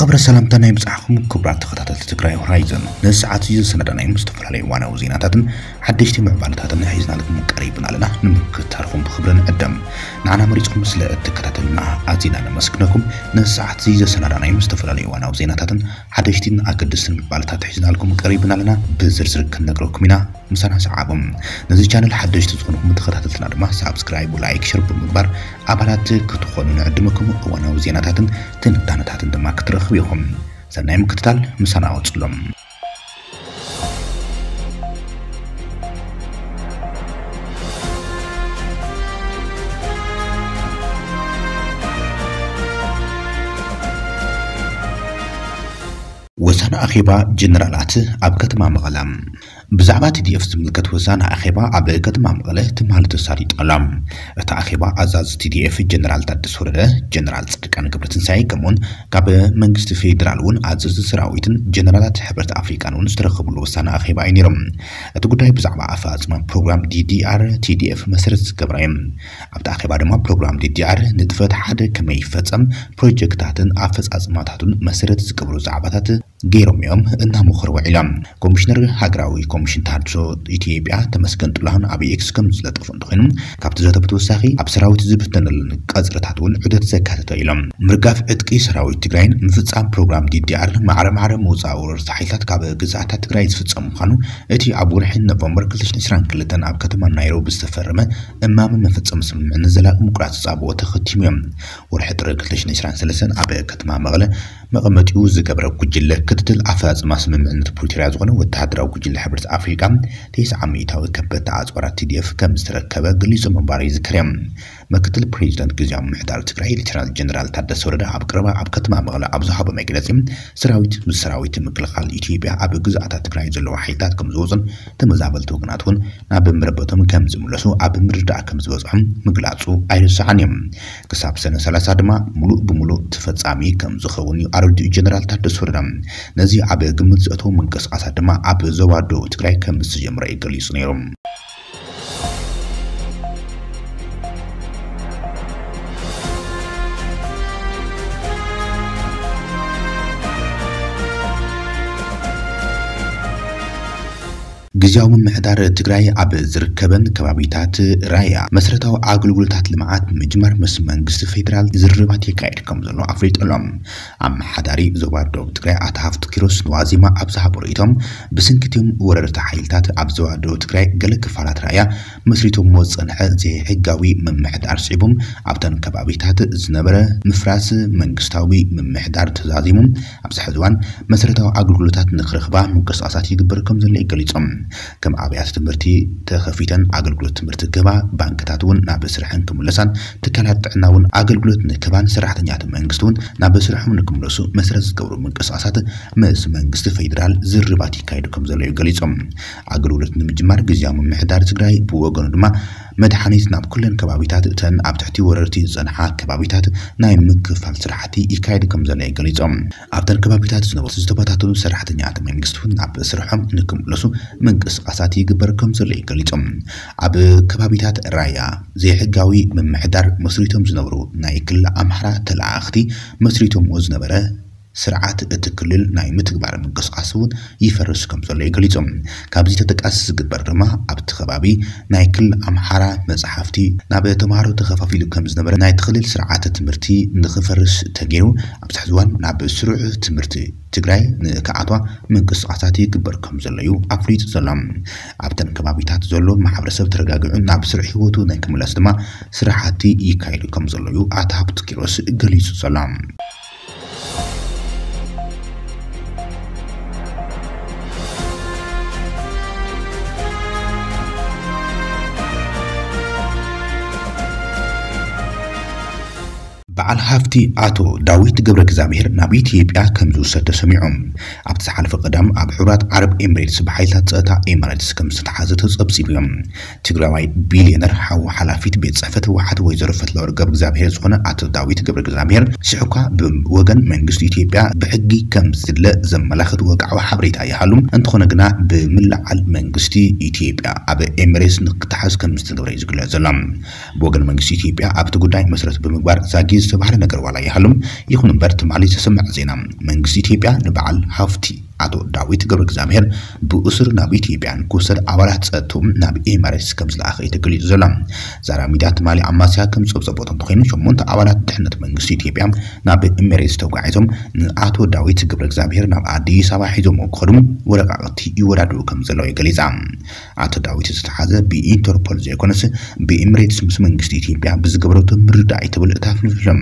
ክብረ ሰላምታ ናይ ብጻሕኩም ክቡራት ተኸታተልቲ ትግራይ ሆራይዘን፣ ነዚ ሰዓት እዚ ዝሰናዳናዮም ዝተፈላለዩ እዋናዊ ዜናታትን ሓደሽቲ ምዕባለታትን ሒዝናልኩም ቀሪብና ኣለና። ንምክትታልኩም ብክብሪ ንዕደም። ንዓና መሪጽኩም ስለ እትከታተሉና ኣዚና ነመስግነኩም። ነዚ ሰዓት እዚ ዘሰናዳናዮም ዝተፈላለዩ እዋናዊ ዜናታትን ሓደሽቲን ኣገደስትን ምዕባለታት ሒዝናልኩም ቀሪብና ኣለና። ብዝርዝር ክንነግረኩም ኢና። ምሳና ሰዓቦም። ነዚ ቻነል ሓደሽቲ ዝኾንኩም ተኸታተልትና ድማ ሳብስክራይብ፣ ላይክ፣ ሸር ብምግባር ኣባላት ክትኾኑ ንዕድመኩም። እዋናዊ ዜናታትን ትንታነታትን ድማ ክትረኽቡ ኢኹም። ሰናይ ምክትታል፣ ምሳና ቀጽሎም። ወሳነ ኣኼባ ጀነራላት ኣብ ከተማ መቐለ። ብዛዕባ ቲ ዲ ኤፍ ዝምልከት ወሳነ ኣኼባ ኣብ ከተማ መቐለ ትማሊ ተሳሊጡ ኣሎ። እቲ ኣኼባ ኣዛዚ ቲ ዲ ኤፍ ጀነራል ታደሰ ወረደ፣ ጀነራል ጻድቃን ገብረትንሳኤ ከምኡውን ካብ መንግስቲ ፌዴራል እውን ኣዘዝቲ ሰራዊትን ጀነራላት ሕብረት ኣፍሪቃን እውን ዝተረኸብሉ ወሳነ ኣኼባ እዩ ነይሩ። እቲ ጉዳይ ብዛዕባ ኣፈፃፅማ ፕሮግራም ዲ ዲ ኣር ቲ ዲ ኤፍ መሰረት ዝገበረ እዩ። ኣብቲ ኣኼባ ድማ ፕሮግራም ዲ ዲ ኣር ንጥፈት ሓደ ከመይ ይፈፀም፣ ፕሮጀክታትን ኣፈፃፅማታቱን መሰረት ዝገብሩ ዛዕባታት ገይሮም እዮም እናመኸሩ ውዒሎም። ኮሚሽነር ሃገራዊ ኮሚሽን ተሃድሶ ኢትዮጵያ ተመስገን ጥላሁን ኣብ ኤክስ ከም ዝለጠፉ እንተኾይኑ፣ ካብቲ ዘተ ብተወሳኺ ኣብ ሰራዊት ዝብተነሉን ቀፅርታት እውን ዑደት ዘካተተ ኢሎም። ምርጋፍ ዕጥቂ ሰራዊት ትግራይን ምፍፃም ፕሮግራም ዲ ዲ ኣር ማዕረ ማዕረ ምውፃእ ወረርቲ ሓይልታት ካብ ግዝኣታት ትግራይ ዝፍፀም ምዃኑ እቲ ኣብ ወርሒ ኖቨምበር ክልተ ሽሕን ዕስራን ክልተን ኣብ ከተማ ናይሮቢ ዝተፈረመ እማመ መፈፀሚ ስምምዕነት ዘላቂ ምቁራፅ ተፃብኦ ተኸቲሙ እዮም። ወርሒ ጥሪ ክልተ ሽሕን ዕስራን ሰለስተን ኣብ ከተማ መቐለ መቐመጢኡ ዝገበረ ጉጅለ ክትትል ኣፈፃፅማ ስምምዕነት ፕሪቶርያ ዝኾነ ወተሃደራዊ ጉጅለ ሕብረት ኣፍሪቃ ተስዓ ሚእታዊ ከበድቲ ኣፅዋራት ቲ ዲ ኤፍ ከም ዝተረከበ ገሊጹ ምንባሩ ይዝከር እዩ። ምክትል ፕሬዚደንት ግዝያዊ ምምሕዳር ትግራይ ሌተናል ጀነራል ታደሰ ወረደ ኣብ ቀረባ ኣብ ከተማ መቐለ ኣብ ዝሃቦ መግለጺ፣ ሰራዊት ምስ ሰራዊት ምክልኻል ኢትዮጵያ ኣብ ግዝኣታት ትግራይ ዘለዉ ሓይልታት ከም ዝወፁን ተመዛበልቲ ወገናት እውን ናብ መረበቶም ከም ዝምለሱ ኣብ ምርዳእ ከም ዝበፅሖም ምግላፁ ኣይርሳዕን እዩ። ክሳብ ሰነ ሰላሳ ድማ ሙሉእ ብሙሉእ ተፈጻሚ ከም ዝኸውን እዩ ኣረዲኡ ጀነራል ታደሰ ወረደ። ነዚ ኣብ ግምት ዘእተወ ምንቅስቃሳት ድማ ኣብ ዞባ ደቡብ ትግራይ ከም ዝተጀመረ እዩ ገሊጹ ነይሩ። ግዝያዊ ምምሕዳር ትግራይ ኣብ ዝርከበን ከባቢታት ራያ መሰረታዊ ኣገልግሎታት ልምዓት ንምጅማር ምስ መንግስቲ ፌዴራል ዝርርባት የካየድ ከም ዘሎ ኣፍሊጡ ኣሎ። ኣመሓዳሪ ዞባ ደቡብ ትግራይ ኣቶ ሃፍቱ ኪሮስ ንዋዜማ ኣብ ዝሃቦ ርእይቶ፣ ብስንኪ እቶም ወረርቲ ሓይልታት ኣብ ዞባ ደቡብ ትግራይ ገለ ክፋላት ራያ መስሪቶምዎ ዝጸንሐ ዘይሕጋዊ ምምሕዳር ስዒቦም ኣብተን ከባቢታት ዝነበረ ምፍራስ መንግስታዊ ምምሕዳር ተዛዚሙ ኣብዚ ሕዚ እዋን መሰረታዊ ኣገልግሎታት ንክረኽባ ምንቅስቃሳት ይግበር ከም ዘሎ እዩ ገሊጾም። ከም ኣብያተ ትምህርቲ ተኸፊተን ኣገልግሎት ትምህርቲ ክህባ፣ ባንክታት እውን ናብ ስርሐን ክምለሳን፣ ትካላት ጥዕና እውን ኣገልግሎት ንክህባን፣ ሰራሕተኛታት መንግስቲ እውን ናብ ስርሖም ንክምለሱ መሰረት ዝገብሩ ምንቅስቃሳት ምስ መንግስቲ ፌዴራል ዝርርባት ይካየዱ ከም ዘሎ እዩ ገሊጾም። ኣገልግሎት ንምጅማር ግዝያዊ ምምሕዳር ትግራይ ብወገኑ ድማ መድሓኒት ናብ ኩለን ከባቢታት እተን ኣብ ትሕቲ ወረርቲ ዝጸንሓ ከባቢታት ናይ ምክፋል ስራሕቲ ይካየድ ከም ዘሎ እዩ ገሊጾም። ኣብተን ከባቢታት ዝነበሩ ዝተበታተኑ ሰራሕተኛታት መንግስቲ እውን ናብ ስርሖም ንክምለሱ ምንቅስቃሳት ይግበር ከም ዘሎ እዩ ገሊጾም። ኣብ ከባቢታት ራያ ዘይሕጋዊ ምምሕዳር መስሪቶም ዝነበሩ ናይ ክልል ኣምሓራ ተለኣኣኽቲ መስሪቶምዎ ዝነበረ ስርዓት እቲ ክልል ናይ ምትግባር ምንቅስቃስ እውን ይፈርስ ከም ዘሎ እዩ ገሊጾም። ካብዚ ተጠቃሲ ዝግበር ድማ ኣብቲ ከባቢ ናይ ክልል ኣምሓራ መጽሓፍቲ ናብ ተምሃሮ ተኸፋፊሉ ከም ዝነበረ ናይቲ ክልል ስርዓተ ትምህርቲ ንኽፈርስ ተገይሩ ኣብዚ ሕዚ እዋን ናብ ስሩዕ ትምህርቲ ትግራይ ንክኣትዋ ምንቅስቃሳት ይግበር ከም ዘሎ እዩ ኣፍሊጡ ዘሎ። ኣብተን ከባቢታት ዘሎ ማሕበረሰብ ተረጋጊዑ ናብ ስሩዕ ህይወቱ ናይ ክምለስ ድማ ስራሕቲ ይካየዱ ከም ዘሎ እዩ ኣቶ ሃብቱ ኪሮስ ገሊጹ ዘሎ። በዓል ሃፍቲ ኣቶ ዳዊት ገብረ እግዚኣብሔር ናብ ኢትዮጵያ ከም ዝውሰድ ተሰሚዑ። ኣብቲ ዝሓለፈ ቀዳም ኣብ ሕቡራት ዓረብ ኤምሬትስ ብሓይልታት ጸጥታ ኤማሬትስ ከም ዝተተሓዘ ተጸብጺቡ እዩ። ትግራዋይ ቢልዮነር ሓው ሓላፊት ቤት ጽሕፈት ህወሓት ወይዘሮ ፈትለወርቅ ገብረ እግዚኣብሔር ዝኾነ ኣቶ ዳዊት ገብረ እግዚኣብሔር ሽሕኳ ብወገን መንግስቲ ኢትዮጵያ ብሕጊ ከም ዝድለ ዘመላኽት ወግዓዊ ሓበሬታ ይሃሉ እንተኾነ ግና ብምልዓል መንግስቲ ኢትዮጵያ ኣብ ኤምሬትስ ንክተሓዝ ከም ዝተገብረ እዩ ዝግለጽ ዘሎ። ብወገን መንግስቲ ኢትዮጵያ ኣብቲ ጉዳይ መሰረት ብምግባር ዛጊት ባሕሪ ነገር ዋላ ይሃሉም። ይኹን እምበር ትማሊ ዝተሰምዐ ዜና መንግስቲ ኢትዮጵያ ንበዓል ሃፍቲ ኣቶ ዳዊት ገብረ እግዚኣብሔር ብእሱር ናብ ኢትዮጵያ ንክውሰድ ኣባላት ጸጥትኡ ናብ ኤምሬትስ ከም ዝለኣኸ እዩ ተገሊጹ ዘሎ። ዛራ ሚድያ ትማሊ ኣማስያ ከም ጸብጸቦ እንተኾይኑ ሸሞንተ ኣባላት ድሕነት መንግስቲ ኢትዮጵያ ናብ ኤምሬትስ ተጓዒዞም ንኣቶ ዳዊት ገብረ እግዚኣብሔር ናብ ኣዲስ ኣበባ ሒዞም ክኸዱ ወረቃቕቲ ይወዳድሩ ከም ዘለዉ ገሊጻ። ኣቶ ዳዊት ዝተሓዘ ብኢንተርፖል ዘይኮነስ ብኤምሬትስ ምስ መንግስቲ ኢትዮጵያ ብዝገበረቶ ምርዳእ እዩ ትብል እታ ፍልፍል።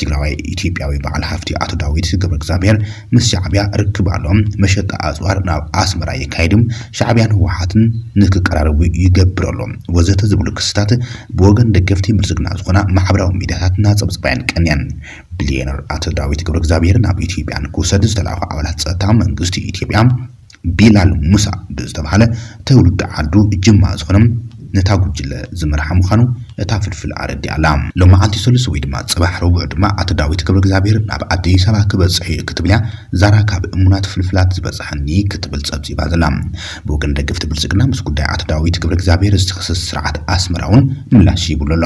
ትግራዋይ ኢትዮጵያዊ በዓል ሃፍቲ ኣቶ ዳዊት ገብረ እግዚኣብሔር ምስ ሻዕቢያ ርክብ ኣሎ። መሸጣ ኣፅዋር ናብ ኣስመራ የካይድም ሻዕቢያን ህወሓትን ንክቀራረቡ ይገብር ኣሎ ወዘተ ዝብሉ ክስታት ብወገን ደገፍቲ ብልፅግና ዝኾና ማሕበራዊ ሚዲያታት እናፀብፀባያን ቀንያን። ቢልዮነር ኣቶ ዳዊት ገብረ እግዚኣብሔር ናብ ኢትዮጵያ ንክውሰድ ዝተላእኩ ኣባላት ጸጥታ መንግስቲ ኢትዮጵያ ቢላል ሙሳ ብዝተባሃለ ተውልዲ ዓዱ ጅማ ዝኾነ ነታ ጉጅለ ዝመርሓ ምዃኑ እታ ፍልፍል ኣረዲኣ ኣላ። ሎማዓልቲ ሰሉስ ወይ ድማ ጽባሕ ረቡዕ ድማ ኣቶ ዳዊት ገብረ እግዚኣብሔር ናብ ኣዲስ ኣበባ ክበጽሕ እዩ ክትብል እያ ዛራ ካብ እሙናት ፍልፍላት ዝበጽሐኒ ክትብል ጸብጺባ ዘላ። ብወገን ደገፍቲ ብልጽግና ምስ ጉዳይ ኣቶ ዳዊት ገብረ እግዚኣብሔር ዝተኸሰሰ ስርዓት ኣስመራ እውን ምላሽ ይብሉ ኣሎ።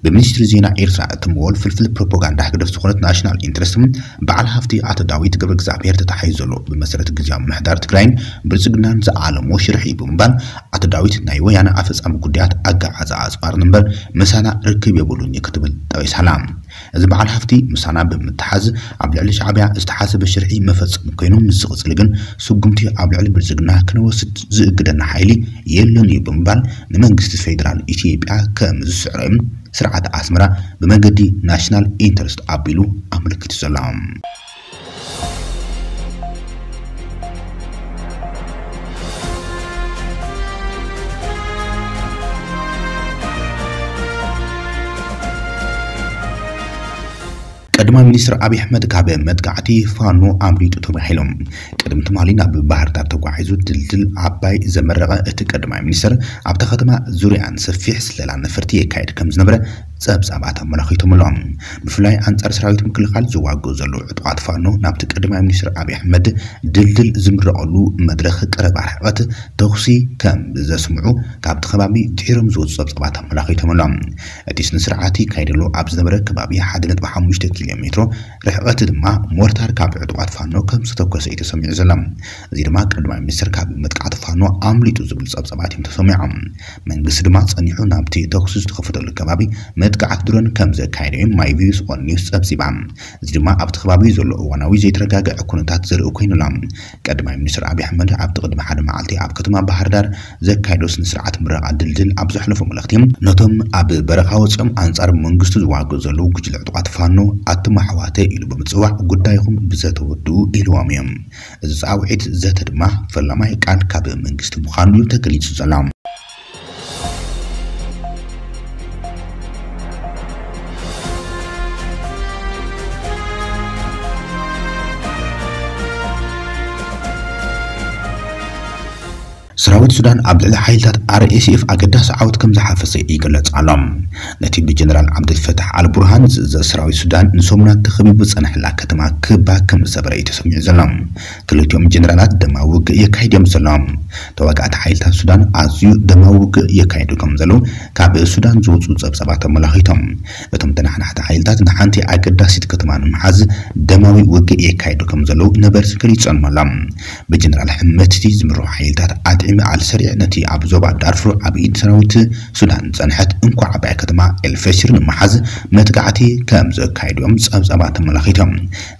ብሚኒስትሪ ዜና ኤርትራ እትምወል ፍልፍል ፕሮፓጋንዳ ህግደፍ ዝኾነት ናሽናል ኢንትረስት በዓል ሃፍቲ ኣቶ ዳዊት ገብረ እግዚኣብሔር ተታሒዙ ዘሎ። ብመሰረት ግዝያዊ ምምሕዳር ትግራይን ብልጽግናን ዝዓለሞ ሽርሒ ብምባል ኣቶ ዳዊት ናይ ወያነ ኣፈጻሚ ጉዳያት ኣገዓዛ ኣጽዋር እምበር ምሳና ርክብ የብሉን እዩ ክትብል ጠቒሳላ። እዚ በዓል ሃፍቲ ምሳና ብምትሓዝ ኣብ ልዕሊ ሻዕቢያ ዝተሓሰበ ሽርሒ መፈጸሚ ኮይኑ ምስ ዝቕጽል ግን ስጉምቲ ኣብ ልዕሊ ብልጽግና ክንወስድ ዝእግደና ሓይሊ የለን እዩ ብምባል ንመንግስቲ ፌደራል ኢትዮጵያ ከም ዝስዕሮ እዩ ስርዓት ኣስመራ ብመገዲ ናሽናል ኢንተረስት ኣቢሉ ኣመልኪቱ ዘሎ። ቀዳማይ ሚኒስትር ኣብይ ኣሕመድ ካብ መጥቃዕቲ ፋኖ ኣምሊጡ ተባሂሎም። ቅድሚ ትማሊ ናብ ባህር ዳር ተጓዒዙ ድልድል ዓባይ ዘመረቐ እቲ ቀዳማይ ሚኒስትር ኣብታ ከተማ ዙርያን ሰፊሕ ስለላ ነፈርቲ የካየድ ከም ዝነበረ ጸብጻባት ኣመላኺቶም ኣለዉ። ብፍላይ ኣንጻር ሰራዊት ምክልኻል ዝዋግኡ ዘለዉ ዕጡቓት ፋኖ ናብቲ ቀዳማይ ሚኒስትር ኣብይ ኣሕመድ ድልድል ዝምረቐሉ መድረኽ ቀረባ ርሕቐት ተኹሲ ከም ዘስምዑ ካብቲ ከባቢ ድሒሮም ዝወፁ ጸብጻባት ኣመላኺቶም ኣለዉ። እቲ ስነ ስርዓት ይካየደሉ ኣብ ዝነበረ ከባቢ ሓደ ነጥቢ ሓሙሽተ ኪሎ ሜትሮ ርሕቐት ድማ ሞርታር ካብ ዕጡቓት ፋኖ ከም ዝተተኮሰ እዩ ተሰሚዑ ዘሎ። እዚ ድማ ቀዳማይ ሚኒስትር ካብ መጥቃዕቲ ፋኖ ኣምሊጡ ዝብሉ ጸብጻባት እዮም ተሰሚዖም። መንግስቲ ድማ ጸኒሑ ናብቲ ተኹሲ ዝተኸፈተሉ ከባቢ መጥቃዕቲ ድሮን ከም ዘካየደ እዩ ማይ ቪውስ ኦን ኒውስ ጸብጺባ። እዚ ድማ ኣብቲ ከባቢ ዘሎ እዋናዊ ዘይተረጋግዐ ኩነታት ዘርኢ ኮይኑ ኣሎ። ቀዳማይ ሚኒስትር ኣብይ ኣሕመድ ኣብቲ ቅድሚ ሓደ መዓልቲ ኣብ ከተማ ባህር ዳር ዘካየዶ ስነ ስርዓት ምረቓ ድልድል ኣብ ዘሕለፎ መልእኽቲ ነቶም ኣብ በረኻ ወፂኦም ኣንጻር መንግስቱ ዝዋግኡ ዘለዉ ጉጅለ ዕጡቓት ፋኖ ኣቱም ኣሕዋተይ ኢሉ ብምፅዋዕ ጉዳይኹም ብዘተወድኡ ኢልዎም እዮም። እዚ ፃውዒት ዘተ ድማ ፈላማይ ቃል ካብ መንግስቲ ምዃኑ እዩ ተገሊፁ ዘሎ። ሰራዊት ሱዳን ኣብ ልዕሊ ሓይልታት ኣር ኤስ ኤፍ ኣገዳሲ ዓወት ከም ዝሓፈሰ ይግለጽ ኣሎ። ነቲ ብጀነራል ዓብደልፈታሕ ኣልቡርሃን ዝእዘዝ ሰራዊት ሱዳን ንሰሙናት ተኸቢቡ ዝጸንሐላ ከተማ ክባ ከም ዝሰበረ እዩ ተሰሚዑ ዘሎ። ክልቲኦም ጀነራላት ደማዊ ውግእ የካይድ እዮም ዘለዉ። ተዋጋእቲ ሓይልታት ሱዳን ኣዝዩ ደማዊ ውግእ የካይዱ ከም ዘለዉ ካብ ሱዳን ዝወጹ ጸብጻባት ኣመላኺቶም። እቶም ተናሓናሕቲ ሓይልታት ንሓንቲ ኣገዳሲት ከተማ ንምሓዝ ደማዊ ውግእ የካይዱ ከም ዘለዉ ነበርቲ ገሊጾም ኣለዉ። ብጀነራል ሕመትቲ ዝምርሑ ሓይልታት ኣጥዒሚ ኣልሰሪዕ ነቲ ኣብ ዞባ ዳርፉር ኣብ ኢድ ሰራዊት ሱዳን ዝጸንሐት እንኮ ዓባይ ከተማ ኤልፈሽር ንምሓዝ መጥቃዕቲ ከም ዘካየዱ እዮም ጸብጻባት ኣመላኺቶም።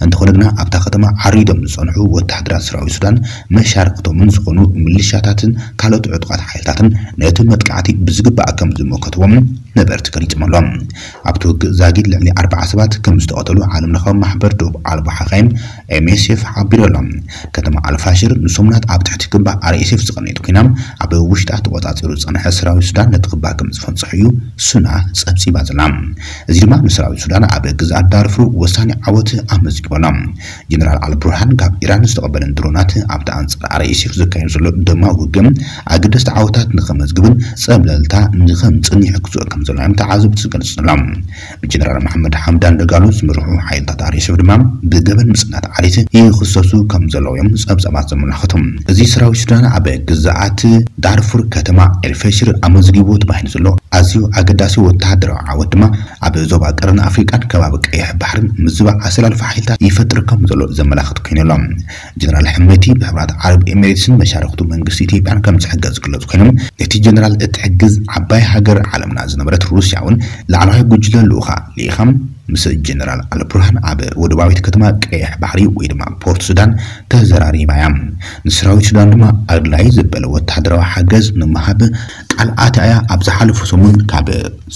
እንተኾነ ግና ኣብታ ከተማ ዓሪዶም ዝጸንሑ ወተሃደራት ሰራዊት ሱዳን መሻርክቶምን ዝኾኑ ሚሊሻታትን ካልኦት ዕጡቓት ሓይልታትን ነቲ መጥቃዕቲ ብዝግባእ ከም ዝመከትዎም ነበርቲ ገሊጾም ኣለዉ። ኣብቲ ውግእ ዛጊድ ልዕሊ ኣርባዓ ሰባት ከም ዝተቐተሉ ዓለም ለኻዊ ማሕበር ዶብ ኣልቦ ሓኻይም ኤም ኤስ ኤፍ ሓቢሩ ኣሎ። ከተማ ኣልፋሽር ንሰሙናት ኣብ ትሕቲ ክባ ኣር ኤስ ኤፍ ዝቐነየት ኮይና ኣብ ውሽጣ ተቖጻጺሩ ዝጸንሐ ሰራዊት ሱዳን ነቲ ክባ ከም ዝፈንጽሑ እዩ ሱና ጸብጺባ ዘላ። እዚ ድማ ንሰራዊት ሱዳን ኣብ ግዝኣት ዳርፉር ወሳኒ ዓወት ኣመዝጊቡ ኣሎ። ጀነራል ኣልቡርሃን ካብ ኢራን ዝተቐበለን ድሮናት ኣብቲ ኣንጻር ኣር ኤስ ኤፍ ዘካየዱ ዘሎ ደማዊ ውግእ ኣገደስቲ ዓወታት ንኸመዝግብን ጸብለልታ ንኸምጽእን ይሕግዞ ከም ዘሎ እዮም ተዓዘብቲ ዝገልጹ ዘለዉ። ብጀነራል መሓመድ ሓምዳን ደጋሎ ዝምርሑ ሓይልታት ኣር ኤስ ኤፍ ድማ ብገበን ምጽናት ዓሌት ይኽሰሱ ከም ዘለዉ እዮም ጸብጻባት ዘመላኽቱ። እዚ ሰራዊት ሱዳን ኣብ ግዛእ ኣቲ ዳርፉር ከተማ ኤልፈሽር ኣመዝጊቡ ተባሂሉ ዘሎ ኣዝዩ ኣገዳሲ ወተሃደራዊ ዓወት ድማ ኣብ ዞባ ቀርኒ ኣፍሪቃን ከባቢ ቀይሕ ባሕርን ምዝባዕ ኣሰላልፋ ሓይልታት ይፈጥር ከም ዘሎ ዘመላኽት ኮይኑ ኣሎ። ጀነራል ሕመቲ ብሕቡራት ዓረብ ኤሚሬትስን መሻርክቱ መንግስቲ ኢትዮጵያን ከም ዝሕገዝ ዝግለጹ ኮይኖም፣ ነቲ ጀነራል እትሕግዝ ዓባይ ሃገር ዓለምና ዝነበረት ሩስያ እውን ላዕለዋይ ጉጅለ ልኡኻ ልኢኻ ምስ ጀነራል ኣልቡርሃን ኣብ ወደባዊት ከተማ ቀይሕ ባሕሪ ወይ ድማ ፖርት ሱዳን ተዘራሪባ እያ። ንሰራዊት ሱዳን ድማ ኣድላይ ዝበለ ወተሃደራዊ ሓገዝ ንምሃብ ቃል ኣትያ እያ። ኣብ ዝሓለፉ ሰሙን ካብ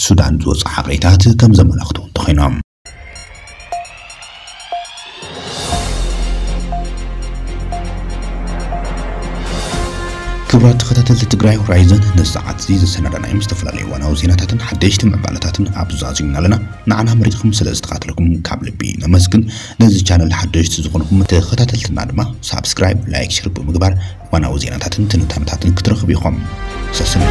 ሱዳን ዝወፁ ሓበሬታት ከም ዘመላኽቱ ተኾይኖም። ክቡራት ተኸታተልቲ ትግራይ ሆራይዘን፣ ነዚ ሰዓት እዚ ዘሰናዳናዮም ዝተፈላለዩ ዋናዊ ዜናታትን ሓደሽቲ ምዕባለታትን ኣብ ዛዚምና ኣለና። ንዓና መሪፅኩም ስለ ዝተኸታተልኩም ካብ ልቢ ነመስግን። ነዚ ቻነል ሓደሽቲ ዝኾንኩም ተኸታተልትና ድማ ሳብስክራይብ፣ ላይክ፣ ሸር ብምግባር ዋናዊ ዜናታትን ትንታነታትን ክትረኽቡ ኢኹም። ሰስን